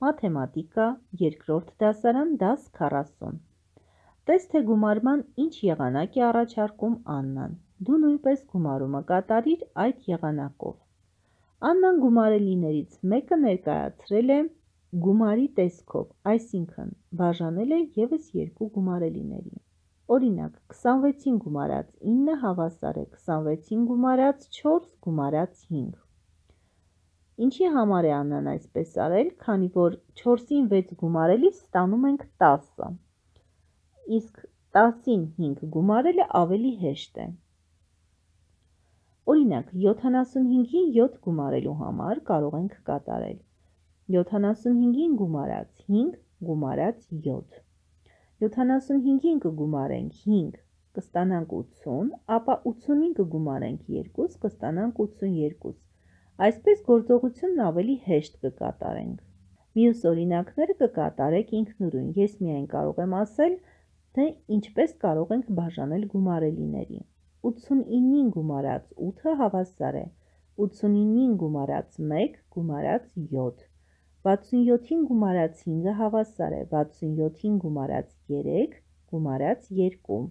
Մաթեմատիկա, երկրորդ դասարան, դաս 40։ Տես թե գումարման ինչ եղանակ է առաջարկում Աննան։ Դու նույնպես գումարումը կատարիր այդ եղանակով։ Աննան գումարելիներից մեկը ներկայացրել է գումարի տեսքով, այսինքն բաժանել է ևս երկու գումարելիների։ Օրինակ, 26-ին գումարած 9 հավասար է 26-ին գումարած 4 գումարած 5։ Ինչի համար է Աննան այսպես արել, քանի որ 4-ին 6 գումարելիս ստանում ենք 10, իսկ 10-ին 5 գումարելը ավելի հեշտ է։ Օրինակ, 75-ին 7 գումարելու համար կարող ենք կատարել 75-ին գումարած 5 գումարած 7։ 75-ին կգումարենք 5, կստանանք 80, ապա 80-ին կգումարենք 2, կստանանք 82։ Այսպես գործողությունն ավելի հեշտ կկատարենք։ Մյուս օրինակները կկատարեք ինքնուրույն, ես միայն կարող եմ ասել, թե ինչպես կարող ենք բաժանել գումարելիների։ 89-ին գումարած 8-ը հավասար է 89-ին գումարած 1 գումարած 7, 67-ին գումարած 5-ը հավասար է 67-ին գումարած 3 գումարած 2,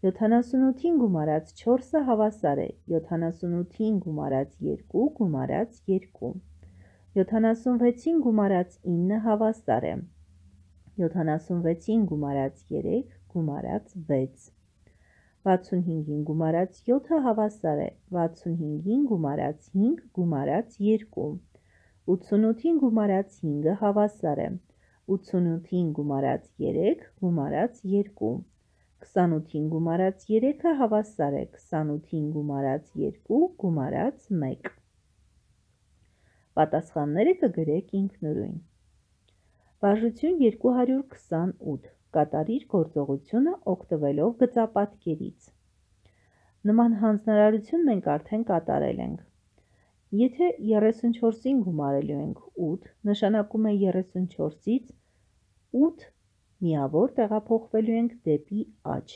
78-ին գումարած 4-ը հավասար է 78-ին գումարած 2 գումարած 2, 76-ին գումարած 9-ը հավասար է 76-ին գումարած 3 գումարած 6, 65-ին գումարած 7-ը հավասար է 65-ին գումարած 5 գումարած 2, 88-ին գումարած 5-ը հավասար է 88-ին գումարած 3 գումարած 2, 28-ին գումարած 3-ը հավասար է 28-ին գումարած 2 գումարած 1։ Պատասխանները կգրեք ինքնուրույն։ Բաժություն 228, կատարիր գործողությունը օգտվելով գծապատկերից։ Նման հանձնարարություն մենք արդեն կատարել ենք։ Եթե 34-ին գումարելու ենք 8, նշանակում է 34-ից 8 միավոր տեղափոխվելու ենք դեպի աջ։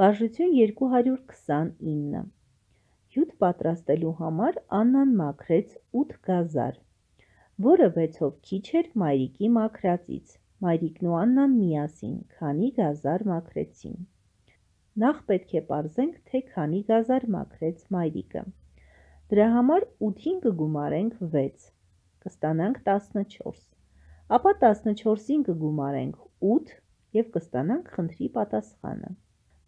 Բաժություն 229, հյութ պատրաստելու համար Աննան մաքրեց 8 գազար, որը 6-ով քիչ էր մայրիկի մաքրածից։ Մայրիկն ու Աննան միասին քանի գազար մաքրեցին։ Նախ պետք է պարզենք, թե քանի գազար մաքրեց մայրիկը։ Դրա համար 8-ին կգումարենք 6, կստանանք 14, ապա 14-ին կգումարենք 8 և կստանանք խնդրի պատասխանը։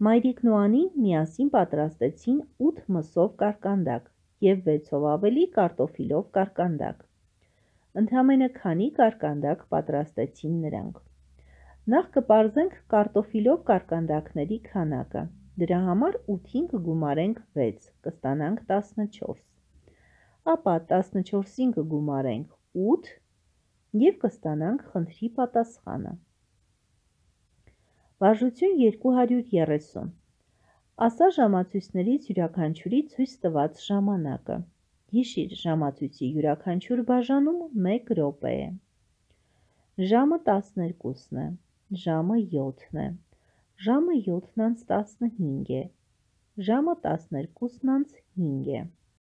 Մայրիկն ու Անին միասին պատրաստեցին 8 մսով կարկանդակ և 6-ով ավելի կարտոֆիլով կարկանդակ։ Ընդամենը քանի կարկանդակ պատրաստեցին նրանք։ Նախ կպարզենք կարտոֆիլով կարկանդակների քանակը։ Դրա համար 8-ին կգումարենք 6, կստանանք 14, ապա 14-ին կգումարենք 8 և կստանանք խնդրի պատասխանը։ Բաժություն 230, ասա ժամացույցներից յուրաքանչյուրի ցույց տված ժամանակը։ Հիշիր, ժամացույցի յուրաքանչյուր բաժանում 1 րոպե է։ Ժամը 12-ն է, ժամը 7-ն է, ժամը 7-ն անց 15 է, ժամը 12-ն անց 5 է։